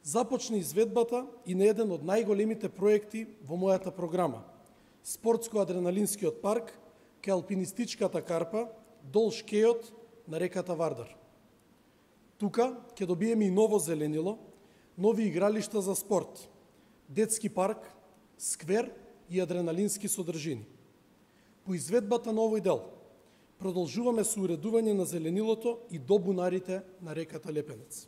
Започна изведбата и на еден од најголемите проекти во мојата програма – спортско-адреналинскиот парк кај алпинистичката карпа долж кејот на реката Вардар. Тука ќе добиеме и ново зеленило, нови игралишта за спорт, детски парк, сквер и адреналински содржини. По изведбата на овој дел продолжуваме со уредување на зеленилото и до бунарите на реката Лепенец.